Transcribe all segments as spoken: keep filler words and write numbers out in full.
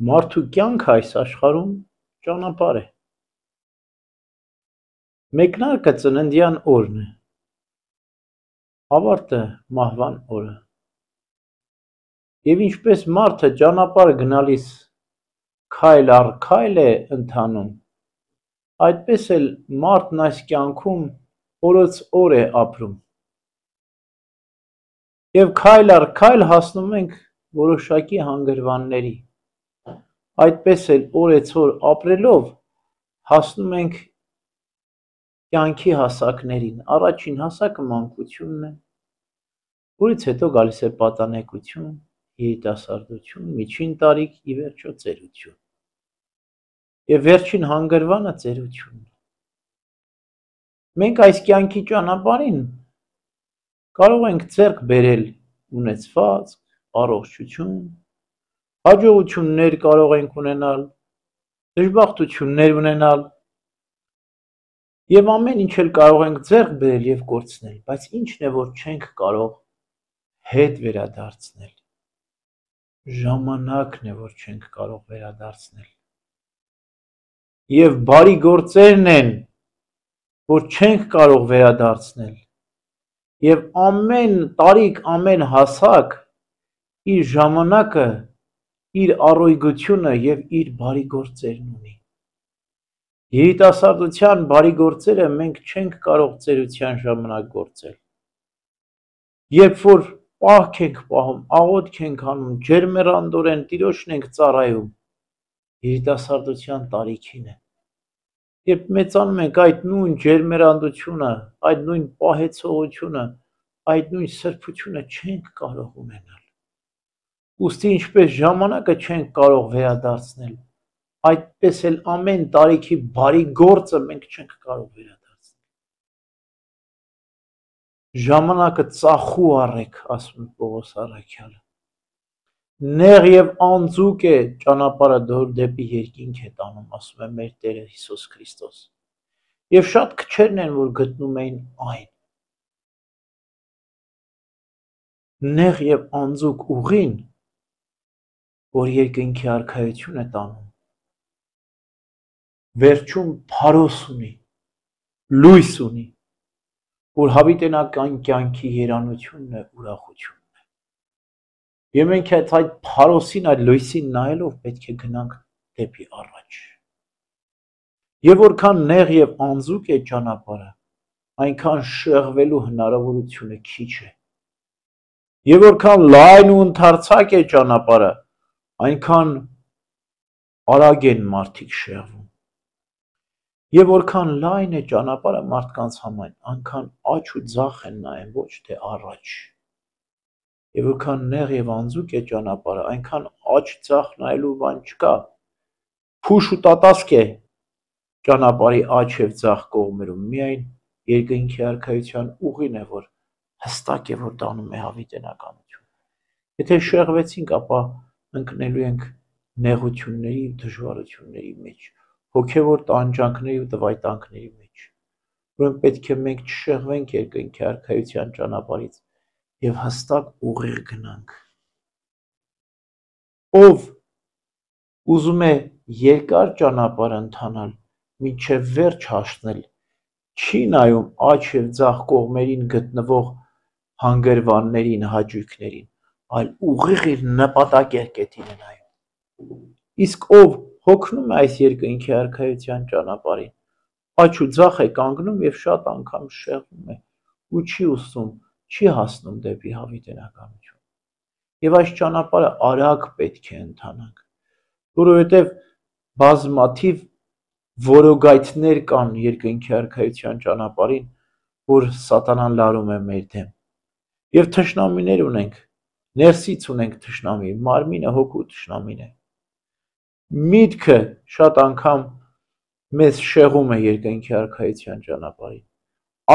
Մարդու կյանքը այս աշխարհում ճանապարհ է։ Մեկնարկը ծննդյան օրն է, ավարտը մահվան օրը։ Եվ ինչպես մարդը ճանապարհ գնալիս քայլ առ քայլ է ընթանում, այդպես էլ մարդն այս կյանքում օրոց օր է ապրում։ Եվ քայլ առ քայլ հասնում ենք որոշակի հանգրվանների։ Այդպես էլ օրեցօր ապրելով հասնում ենք կյանքի հասակներին։ Առաջին հասակը մանկությունն է, որից հետո գալիս է պատանեկություն, երիտասարդություն, միջին տարիք, ի վերջո ծերություն։ Եվ վերջին հանգրվանը ծերությունն է։ Մենք այս կյանքի ճանապարհին կարող ենք ձեռք բերել ունեցվածք, առողջություն, հաջողություններ կարող ենք ունենալ, դժբախտություններ ունենալ, եւ ամեն ինչ էլ կարող ենք ձեռք բերել եւ կորցնել, բայց ինչն է, որ չենք կարող հետ վերադարձնել։ Ժամանակն է, որ չենք կարող վերադարձնել։ Եվ բարի գործերն են, որ չենք կարող վերադարձնել։ Եվ ամեն տարիք, ամեն հասակ իր ժամանակը, իր առօգյությունը եւ իր բարի գործերն ունի։ Երիտասարդության բարի գործերը մենք չենք կարող ծերության ժամանակ գործել։ Երբ որ պահք ենք պահում, աղոթք ենք անում, ջերմեռանդորեն Տիրոջն ենք ծառայում, երիտասարդության տարիքին է։ Երբ մեծանում ենք, այդ նույն ջերմեռանդությունը, այդ նույն պահեցողությունը, այդ նույն սրբությունը չենք կարող ունենալ։ Ուստի ինչպես ժամանակը չենք կարող վերադարձնել, այդպես էլ ամեն տարիքի բարի գործը մենք չենք կարող վերադարձնել։ Ժամանակը ծախու առեք, ասում է Պողոս առաքյալը։ Նեղ եւ անձուկ է ճանապարհը դեպի երկինք է տանում, ասում է մեր Տերը Հիսուս Քրիստոս։ Եվ շատ քչերն են, որ գտնում էին այն։ Նեղ եւ անձուկ ուղին, որ երկնքի արքայություն է տանում, վերջում փարոս ունի, լույս ունի, որ հավիտենական կյանքի երանությունն է, ուրախությունն է։ Եվ մենք այդ փարոսին, այդ լույսին նայելով պետք է գնանք դեպի առաջ։ Եվ որքան նեղ եւ անձուկ է ճանապարհը, այնքան շեղվելու հնարավորությունը քիչ է։ Եվ որքան լայն ու ընդարձակ է ճանապարհը, այնքան արագ են մարդիկ շեղվում։ Եվ որքան լայն է ճանապարհը մարդկանց համար, այնքան աջ ու ձախ են նայում, ոչ թե առաջ։ Եվ որքան նեղ եւ անձուկ է ճանապարհը, այնքան աջ ձախ նայելու բան չկա։ Փուշ ու տատասկ է ճանապարհի աջ եւ ձախ կողմերում, միայն երկնքի արքայության ուղին է, որ հստակ է, որ տանում է հավիտենականություն։ Եթե շեղվեցինք, ապա ընկնելու ենք նեղությունների ու դժվարությունների մեջ, հոգևոր տանջանքների ու տվայտանքների մեջ, որոնք պետք է մենք չշեղվենք երկնքի արքայության ճանապարհից եւ հստակ ուղիղ գնանք։ Ով ուզում է երկար ճանապարհ ընթանալ, մինչև վերջ հասնել, չի նայում աջ եւ ձախ կողմերին գտնվող հանգրվաններին, հաճույքներին, այլ ուղիղ իր նպատակակետին է նայում։ Իսկ ով հոգնում է այս երկնքի արքայության ճանապարհին, աջ ու ձախ է կանգնում եւ շատ անգամ շեղվում է ու չի ուսում, չի հասնում դեպի հավիտենականություն։ Եվ այս ճանապարհը արագ պետք է ընթանանք, որովհետեւ բազմաթիվ որոգայթներ կան երկնքի արքայության ճանապարհին, որ սատանան լարում է մեր դեմ։ Եվ թշնամիներ ունենք, ներսից ունենք թշնամի, մարմինը հոգու թշնամին է։ Միտքը շատ անգամ մեզ շեղում է երկնքի արքայության ճանապարհին։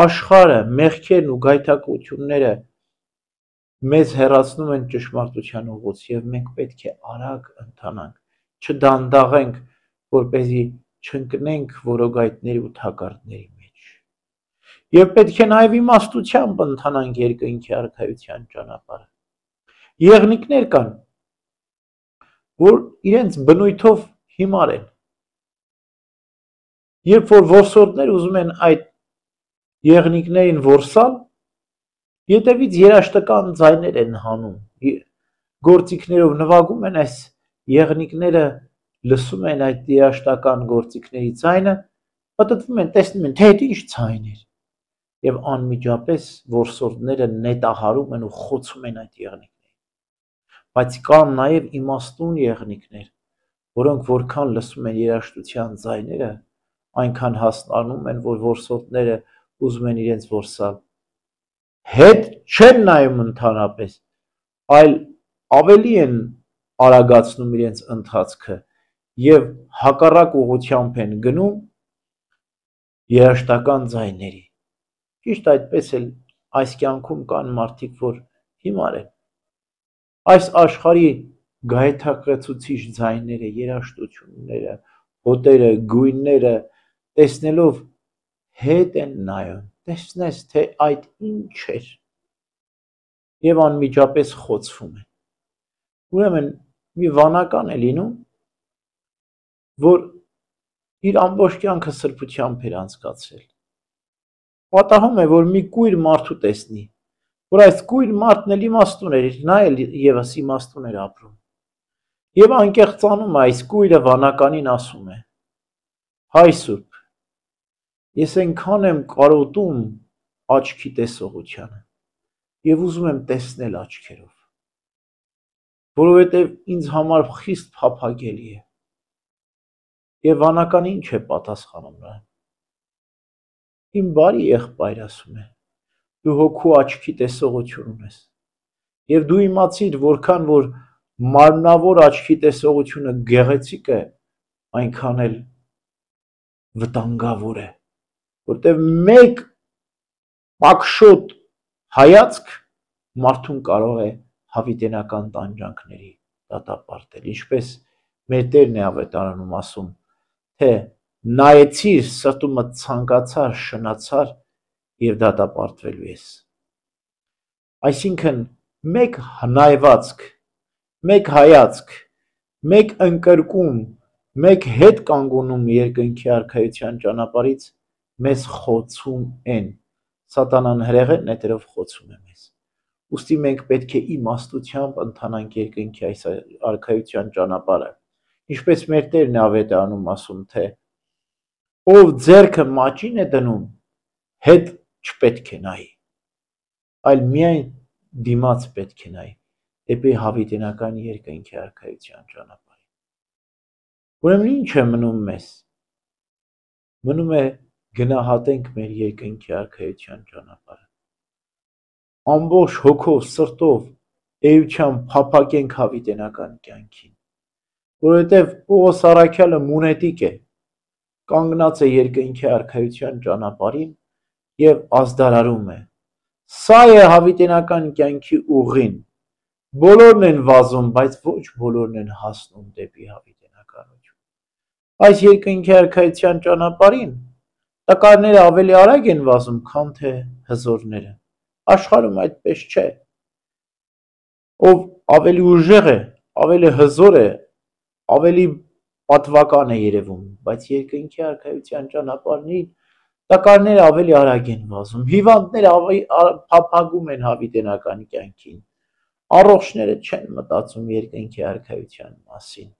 Աշխարհը, մեղքերն ու գայթակղությունները մեզ հեռացնում են ճշմարտության ուղուց եւ մենք պետք է արագ ընթանանք, չդանդաղենք, որպեսզի չընկնենք որոգայթների ու թակարդների մեջ։ Եվ պետք է նաեւ իմաստությամբ ընթանանք երկնքի արքայության ճանապարհը։ Եղնիկներ կան, որ իրենց բնույթով հիմար են։ Երբ որ որսորդներ ուզում են այդ եղնիկներին որսալ, ետևից երաշտական ձայներ են հանում, գործիքներով նվագում են այս եղնիկները, լսում են այդ երաշտական գործիքների ձայնը, պատտվում են, տեսնում են, թե այդ ինչ ձայն էր, եւ անմիջապես որսորդները նետահարում են ու խոցում են այդ եղնիկներին։ Բայց կան նաեւ իմաստուն եղնիկներ, որոնք որքան լսում են երաշտության ձայները, այնքան հասնանում են, որ որսորդները ուզում են իրենց որսալ։ Հետ չեն նայում ընդհանրապես, այլ ավելի են արագացնում իրենց ընթացքը եւ հակառակ ուղղությամբ են գնում երաշտական ձայների։ Ճիշտ այդպես էլ այս կյանքում կան մարդիկ, որ հիմար են։ Այս աշխարհի գայթակղեցուցիչ ձայները, երաշտությունները, հոտերը, գույները տեսնելով հետ են նայում, տեսնես, թե այդ ինչ էր, եւ անմիջապես խոցվում են։ Ուրեմն մի վանական է լինում, որ իր ամբողջ կյանքը սրբությամբ էր անցկացրել։ Պատահում է, որ մի կույր մարդու տեսնի, որ այս կույր մարդն էլ իմաստուն էր, նա էլ եւս իմաստուն էր ապրում։ Եվ անկեղծանում է այս կույրը վանականին ասում է. հայ Սուրբ, ես այնքան եմ կարոտում աչքի տեսողությանը եւ ուզում եմ տեսնել աչքերով, որովհետեւ ինձ համար խիստ փափագելի է։ Եվ վանականը ինչ է պատասխանում նրան։ Իմ բարի եղբայր, ասում է, դու հոգու աչքի տեսողություն ունես, եւ դու իմացիր, որքան որ մարմնավոր աչքի տեսողությունը գեղեցիկ է, այնքան էլ վտանգավոր է, որտեղ մեկ պակշոտ հայացք մարդուն կարող է հավիտենական տանջանքների դատապարտել, ինչպես մեր Տերն է ավետարանում ասում, թե նայեցիր, սրտումդ ցանկացար, շնացար եւ դատապարտվելու ես։ Այսինքն մեկ նայվածք, մեկ հայացք, մեկ ընկրկում, մեկ հետ կանգունում երկնքի արքայության ճանապարհից մեզ խոցում են, սատանան հրեղեն նետերով խոցում է մեզ։ Ուստի մենք պետք է իմաստությամբ ընթանանք երկնքի այս արքայության ճանապարհը, ինչպես մեր Տերն է ավետարանում ասում, թե ով ձեռքը մաճին է դնում, հետ չպետք է նայի, այլ միայն դիմաց պետք է նայի, դեպի հավիտենական երկնքի արքայության ճանապարհին։ Ուրեմն ինչ է մնում մեզ։ Մնում է գնահատենք մեր երկնքի արքայության ճանապարհը։ Ամբողջ հոգով, սրտով, էությամբ փափագենք հավիտենական կյանքին, որովհետև Պողոս առաքյալը մունետիկ է, կանգնած է երկնքի արքայության ճանապարհին եւ ազդարարում է։ Սա է հավիտենական կյանքի ուղին։ Բոլորն են վազում, բայց ոչ բոլորն են հասնում դեպի հավիտենականություն։ Այս երկնքի արքայության ճանապարհին տկարները ավելի արագ են վազում, քան թե հզորները։ Աշխարհում այդպես չէ։ Ով ավելի ուժեղ է, ավելի հզոր է, ավելի պատվական է երևում, բայց երկնքի արքայության ճանապարհին տկարները ավելի արագ են վազում, հիվանդները փափագում են հավիտենական կյանքին, առողջները չեն մտածում երկնքի արքայության մասին,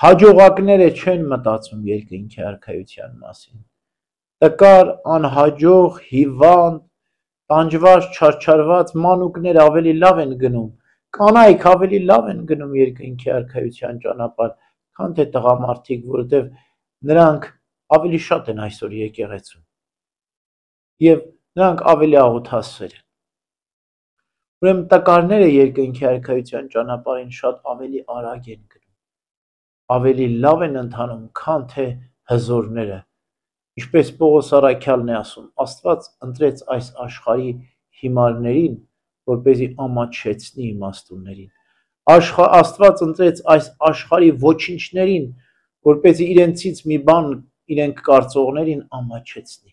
հաջողակները չեն մտածում երկնքի արքայության մասին, տկար, անհաջող, հիվանդ, տանջված, չարչարված մանուկներ ավելի լավ են գնում, կանայք ավելի լավ են գնում երկնքի արքայության ճանապարհ, քան թե տղամարդիկ, որովհետև նրանք ավելի շատ են այսօր եկեղեցում եւ նրանք ավելի աղոթասեր են։ Ուրեմն տկարները երկնքի արքայության ճանապարհին շատ ավելի արագ են գնում, ավելի լավ են ընթանում, քան թե հզորները։ Ինչպես Պողոս առաքյալն է ասում, Աստված ընտրեց այս աշխարհի հիմարներին, որպեսզի ամաչեցնի իմաստուններին։ Աստված ընտրեց այս աշխարհի ոչինչներին, որպեսզի իրենցից մի բան իրենք կարծողներին ամաչեցնի։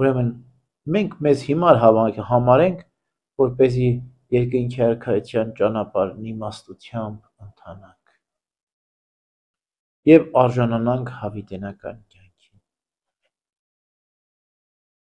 Ուրեմն մենք մեզ հիմար համարենք, որպեսզի երկնքի արքայության ճանապարհն իմաստությամբ ընթանանք և արժանանանք հավիտենական կյանքի։